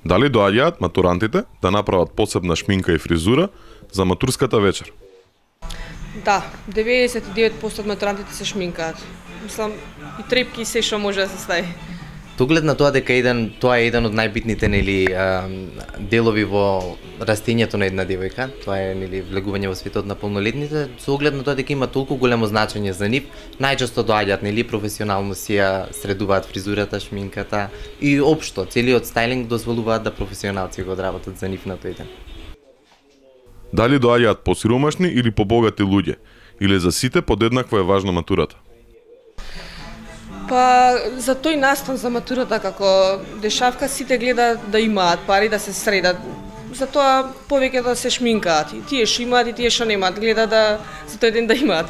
Дали доаѓаат матурантите да направат посебна шминка и фризура за матурската вечер? Да, 99% од матурантите се шминкаат. Мислам, и трепки и се што може да се стави. Оглед на тоа дека тоа е еден од најбитните делови во растењето на една девојка, тоа е влегување во светот на полнолетните, со оглед на тоа дека има толку големо значење за нив, најчесто доаѓаат професионално си ја средуваат фризурата, шминката и општо целиот стајлинг дозволуваат да професионалци го одработат за нив на тој ден. Дали доаѓаат посиромашни или побогати луѓе, или за сите подеднакво е важна матурата? Па за тој настан за матурата како дешавка сите гледаат да имаат пари да се средат. Затоа повеќе да се шминкаат. И тие што имаат и тие што немаат, гледаат да за тој ден да имаат.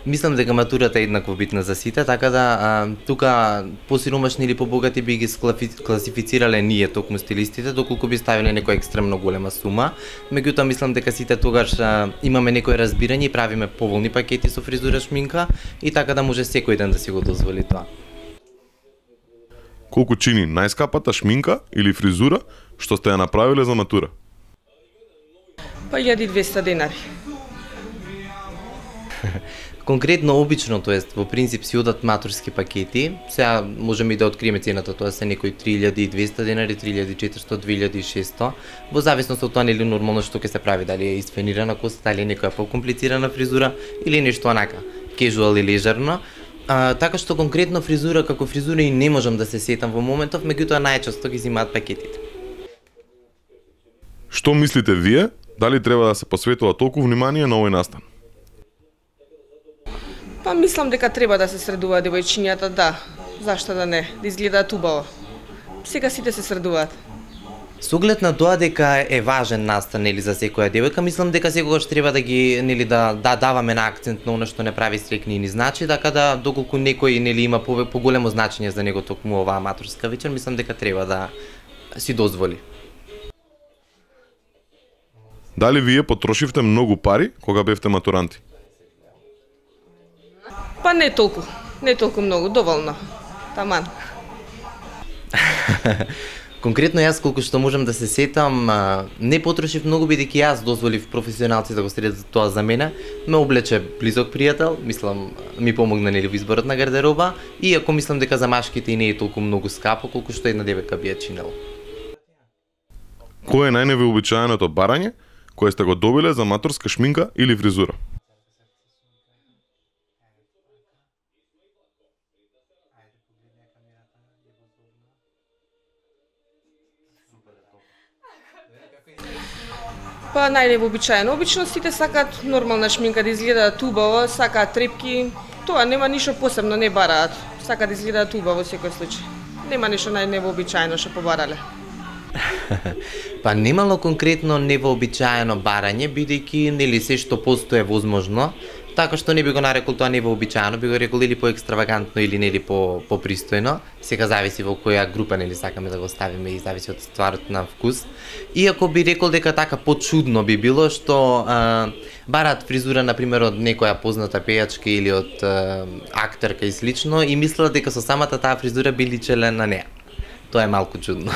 Мислам дека матурата е еднакво битна за сите, така да тука посиромашни или побогати би ги класифицирале ние токму стилистите, доколку би ставиле некоја екстремно голема сума. Меѓутоа мислам дека сите тогаш имаме некој разбирање и правиме поволни пакети со фризура, шминка и така да може секој ден да си го дозволи тоа. Колку чини најскапата шминка или фризура што сте ја направиле за матура? Па 1200 денари. Конкретно обично, тоест во принцип си одат матурски пакети. Сега можеме и да откриеме цената, тоа се некои 3200 денари, 3400, 2600, во зависност од тоа нели нормално што ќе се прави, дали е изфенирана коса, дали е некоја покомплицирана фризура или нешто онака, кежуал и лежерно. Така што конкретно фризура како фризура и не можам да се сетам во моментов, меѓутоа најчесто ги земаат пакетите. Што мислите вие, дали треба да се посветува толку внимание на овој настан? Па мислам дека треба да се средуваат девојчињата, да. Зашто да не, да изгледаат убаво. Сега сите се средуваат. Со оглед на тоа дека е важен настан за секоја девојка, мислам дека секогаш треба да ги да даваме на акцент на она што не прави стрекни ни значи, така да доколку некој има поголемо значење за него токму оваа матурска вечер, мислам дека треба да си дозволи. Дали вие потрошивте многу пари кога бевте матуранти? Па не толку многу, доволно. Таман. Конкретно јас колку што можам да се сетам, не потрошив многу бидејќи јас дозволив професионалци да го средат тоа за мене. Ме облече близок пријател, мислам ми помогна во изборот на гардероба, иако мислам дека за машките и не е толку многу скапо колку што една девојка би ја чинела. Кој е најневообичаеното барање кое сте го добиле за матурска шминка или фризура? Па најневообичаено. Обично сите сакаат нормална шминка да изгледаат убаво, сакаат трепки. Тоа нема ништо посебно, не бараат. Сакаат да изгледаат убаво во секој случај. Нема ништо најневообичаено што побарале. Па немало конкретно невообичаено барање, бидејќи се што постои е возможно. Така што не би го нарекол тоа невообичаено, би го рекол или поекстравагантно или попристојно. Сега зависи во која група сакаме да го ставиме и зависи од стварот на вкус. Иако би рекол дека така почудно би било што бараат фризура например од некоја позната пејачка или од актерка и слично и мислат дека со самата таа фризура би личеле на неа. Тоа е малку чудно.